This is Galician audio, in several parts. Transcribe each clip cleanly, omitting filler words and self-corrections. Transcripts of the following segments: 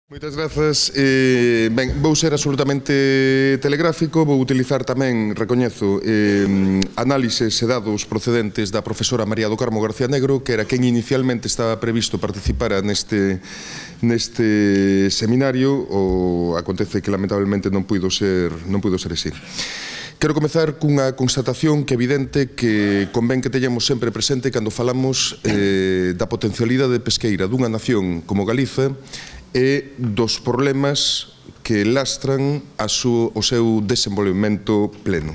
Moitas grazas. Ben, vou ser absolutamente telegráfico, vou utilizar tamén, recoñezo, análises e dados procedentes da profesora María do Carmo García Negro, que era quen inicialmente estaba previsto participara neste seminario, o acontece que lamentablemente non puido ser así. Quero comezar cunha constatación que é evidente que convén que teñamos sempre presente cando falamos da potencialidade pesqueira dunha nación como Galiza e dos problemas que lastran o seu desenvolvemento pleno.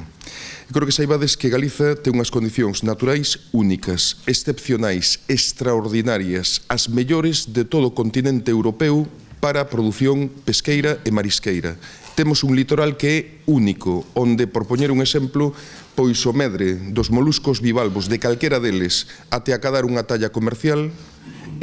Creo que saibades que Galiza ten unhas condicións naturais únicas, excepcionais, extraordinarias, as mellores de todo o continente europeo para a produción pesqueira e marisqueira. Temos un litoral que é único, onde, por poñer un exemplo, pois o medre dos moluscos bivalvos de calquera deles até acadar unha talla comercial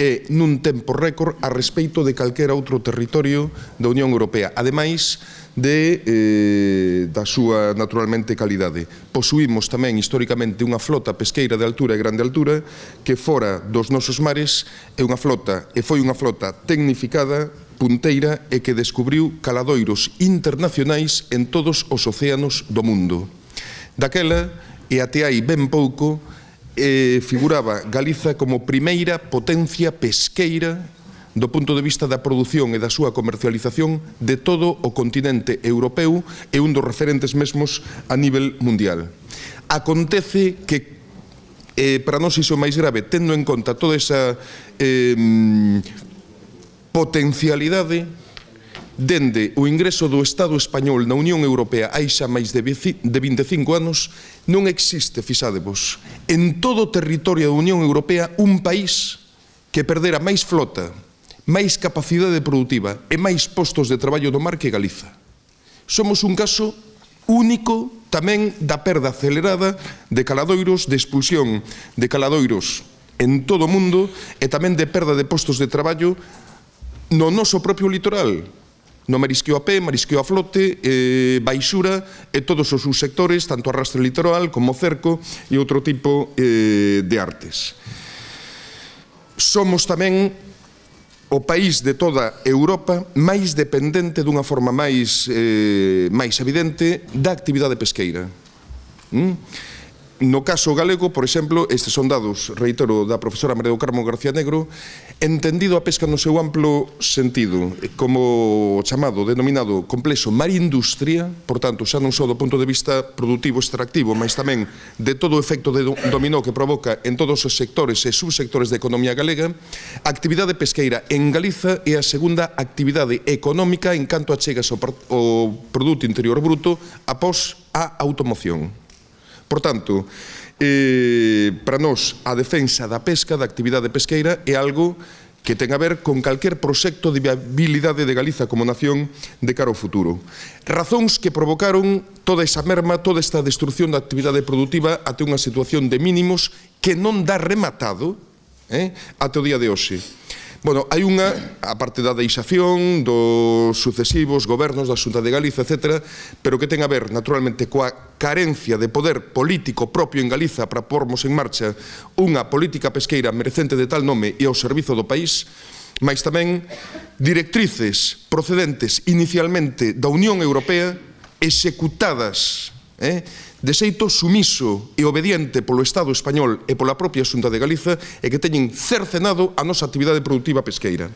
e nun tempo récord a respeito de calquera outro territorio da Unión Europea, ademais da súa, naturalmente, calidade. Posuímos tamén, históricamente, unha flota pesqueira de altura e grande altura que fora dos nosos mares é unha flota, e foi unha flota tecnificada, punteira, e que descubriu caladoiros internacionais en todos os océanos do mundo. Daquela, e até aí ben pouco, figuraba Galiza como primeira potencia pesqueira do punto de vista da produción e da súa comercialización de todo o continente europeu e un dos referentes mesmos a nivel mundial. Acontece que, para nós iso máis grave, tendo en conta toda esa potencialidade, dende o ingreso do Estado español na Unión Europea hai xa máis de 25 anos, non existe, fixádevos, en todo o territorio da Unión Europea un país que perdera máis flota, máis capacidade produtiva e máis postos de traballo no mar que Galiza. Somos un caso único tamén da perda acelerada de caladoiros, de expulsión de caladoiros en todo o mundo e tamén de perda de postos de traballo no noso propio litoral, no marisqueo a pé, marisqueo a flote, baixura e todos os subsectores, tanto arrastre litoral como cerco e outro tipo de artes. Somos tamén o país de toda Europa máis dependente dunha forma máis evidente da actividade pesqueira. No caso galego, por exemplo, estes son dados, reitero, da profesora María do Carmo García Negro, entendido a pesca no seu amplo sentido, como chamado, denominado complexo mar-industria, por tanto, xa non só do punto de vista productivo extractivo, mas tamén de todo o efecto de dominó que provoca en todos os sectores e subsectores da economía galega, a actividade pesqueira en Galiza é a segunda actividade económica en canto achegas ao Produto Interior Bruto após a automoción. Por tanto, para nós, a defensa da pesca, da actividade pesqueira, é algo que ten a ver con calquer proxecto de viabilidade de Galiza como nación de cara ao futuro. Razóns que provocaron toda esa merma, toda esta destrucción da actividade productiva até unha situación de mínimos que non dá rematado até o día de hoxe. Bueno, hai unha, a parte da deixación dos sucesivos gobernos da Xunta de Galiza, etc., pero que ten a ver, naturalmente, coa carencia de poder político propio en Galiza para pormos en marcha unha política pesqueira merecente de tal nome e ao servizo do país, mas tamén directrices procedentes inicialmente da Unión Europea executadas de xeito sumiso e obediente polo Estado español e pola propia Xunta de Galiza e que teñen cercenado a nosa actividade productiva pesqueira.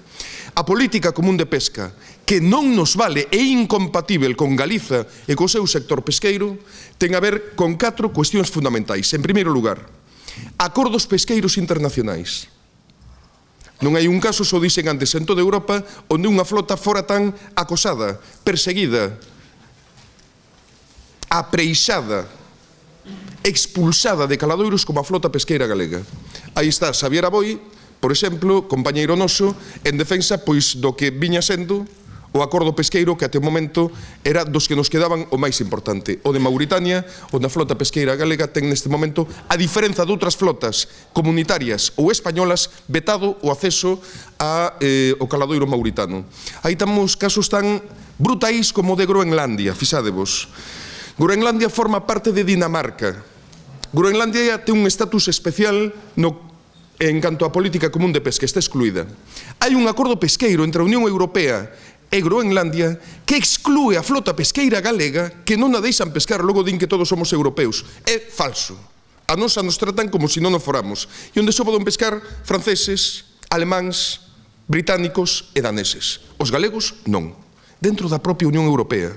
A política común de pesca, que non nos vale e incompatível con Galiza e co seu sector pesqueiro, ten a ver con 4 cuestións fundamentais. En primeiro lugar, acordos pesqueiros internacionais. Non hai un caso, só dixen antes, en toda Europa, onde unha flota fora tan acosada, perseguida, apreixada, expulsada de caladoiros como a flota pesqueira galega. Aí está Xavier Aboi, por exemplo, compañeiro noso, en defensa pois do que viña sendo o acordo pesqueiro que até o momento era dos que nos quedaban o máis importante, o de Mauritania, onde a flota pesqueira galega ten neste momento, a diferenza de outras flotas comunitarias ou españolas, vetado o acceso ao caladoiro mauritano. Aí temos casos tan brutais como o de Groenlandia, fixádevos. Groenlandia forma parte de Dinamarca. Groenlandia ten un estatus especial no en canto á política común de pesca, está excluída. Hai un acordo pesqueiro entre a Unión Europea e Groenlandia que exclúe a flota pesqueira galega que non a deixan pescar, logo din que todos somos europeus. É falso. A nos tratan como se non o foramos. E onde só poden pescar franceses, alemáns, británicos e daneses. Os galegos non. Dentro da propia Unión Europea.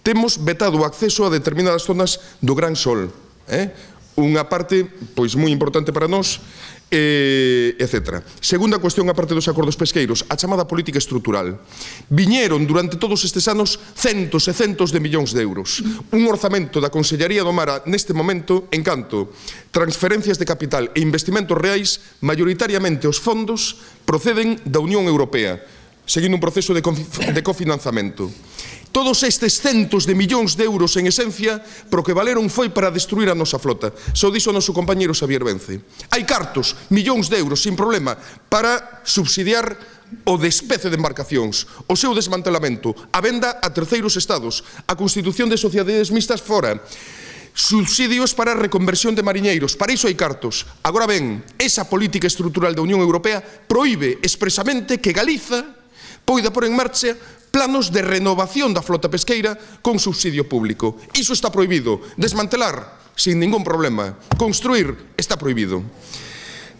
Temos vetado o acceso a determinadas zonas do Gran Sol. Unha parte pois moi importante para nós, etc. Segunda cuestión, a parte dos acordos pesqueiros, a chamada política estrutural. Viñeron durante todos estes anos centos e centos de millóns de euros. Un orzamento da Consellería do Mar neste momento, en canto transferencias de capital e investimentos reais, maioritariamente os fondos proceden da Unión Europea, seguindo un proceso de cofinanzamento. Todos estes centos de millóns de euros, en esencia, pro que valeron foi para destruir a nosa flota. Só dixo o noso compañeiro Xavier Vence. Hai cartos, millóns de euros, sin problema, para subsidiar o despece de embarcacións, o seu desmantelamento, a venda a terceiros estados, a constitución de sociedades mixtas fora, subsidios para a reconversión de mariñeiros, para iso hai cartos. Agora ben, esa política estrutural da Unión Europea proíbe expresamente que Galiza poida pôr en marcha planos de renovación da flota pesqueira con subsidio público. Iso está prohibido. Desmantelar, sin ningún problema. Construir, está prohibido.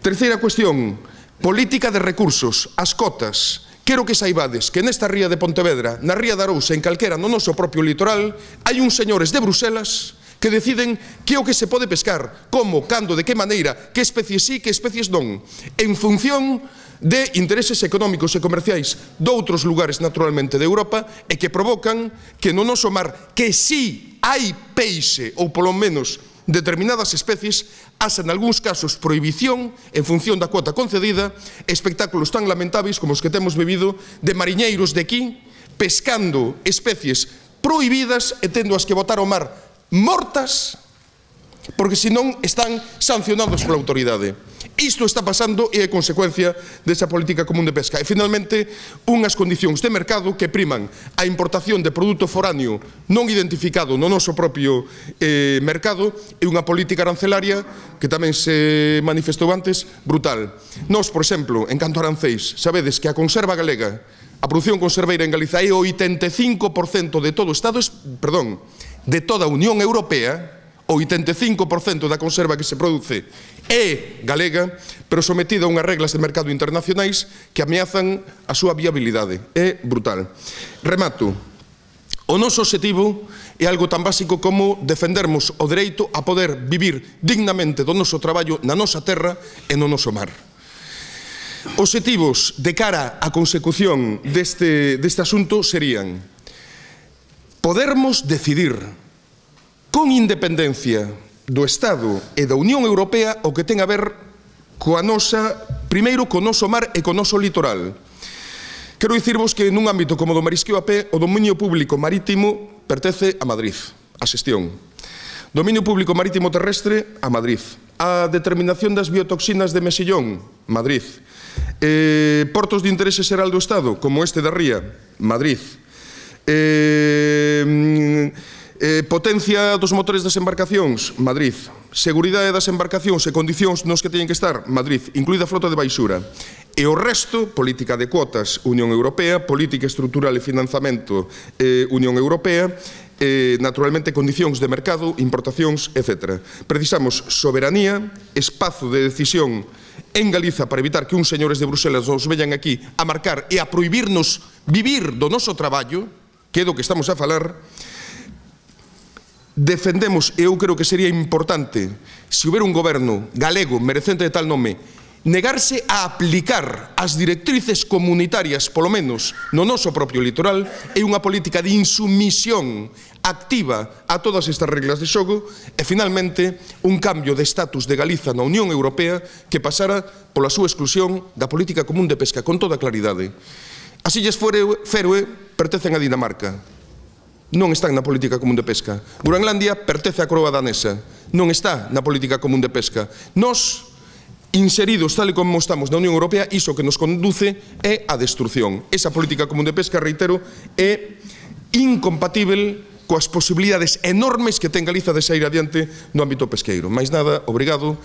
Terceira cuestión, política de recursos, as cotas. Quero que saibades que nesta ría de Pontevedra, na ría de Arousa, en calquera no noso propio litoral, hai uns señores de Bruselas que deciden que o que se pode pescar, como, cando, de que maneira, que especies sí, que especies non, en función de intereses económicos e comerciais doutros lugares naturalmente de Europa e que provocan que no noso mar, que sí hai peixe ou polo menos determinadas especies, haxa en algúns casos prohibición en función da cuota concedida, espectáculos tan lamentáveis como os que temos vivido de mariñeiros de aquí pescando especies prohibidas e tendo as que botar ao mar mortas porque senón están sancionados pola autoridade. Isto está pasando e é consecuencia desa política común de pesca. E, finalmente, unhas condicións de mercado que priman a importación de produto foráneo non identificado no noso propio mercado e unha política arancelaria que tamén se manifestou antes, brutal. Nós, por exemplo, en canto a arancéis, sabedes que a conserva galega, a produción conserveira en Galiza é o 85% de todo o Estado, perdón, de toda a Unión Europea, o 85% da conserva que se produce é galega, pero sometida a unhas reglas de mercado internacionais que ameazan a súa viabilidade. É brutal. Remato. O noso obxectivo é algo tan básico como defendermos o dereito a poder vivir dignamente do noso traballo na nosa terra e no noso mar. Obxectivos de cara á consecución deste asunto serían podermos decidir con independencia do Estado e da Unión Europea o que ten a ver coa nosa, primeiro, co noso mar e co noso litoral. Quero dicirvos que nun ámbito como do marisqueo a pé, o dominio público marítimo pertence a Madrid, a xestión. Dominio público marítimo terrestre, a Madrid. A determinación das biotoxinas de mexillón, Madrid. Portos de interese xeral do Estado, como este da Ría, Madrid. Potencia dos motores das embarcacións, Madrid. Seguridade das embarcacións e condicións nos que teñen que estar, Madrid, incluída a flota de baixura. E o resto, política de cuotas, Unión Europea, política estrutural e financiamento, Unión Europea, naturalmente condicións de mercado, importacións, etc. Precisamos soberanía, espazo de decisión en Galiza para evitar que uns señores de Bruselas nos veñan aquí a marcar e a prohibirnos vivir do noso traballo, que é do que estamos a falar. Defendemos, e eu creo que sería importante, se houbera un goberno galego merecente de tal nome, negarse a aplicar as directrices comunitarias, polo menos no noso propio litoral, é unha política de insumisión activa a todas estas reglas de xogo e, finalmente, un cambio de estatus de Galiza na Unión Europea que pasara pola súa exclusión da política común de pesca, con toda claridade. As Illas Féroe pertencen a Dinamarca. Non están na política común de pesca. Groenlandia pertence á coroa danesa. Non está na política común de pesca. Nós, inseridos tal e como estamos na Unión Europea, iso que nos conduce é a destrucción. Esa política común de pesca, reitero, é incompatible coas posibilidades enormes que ten Galiza de sair adiante no ámbito pesqueiro. Mais nada, obrigado.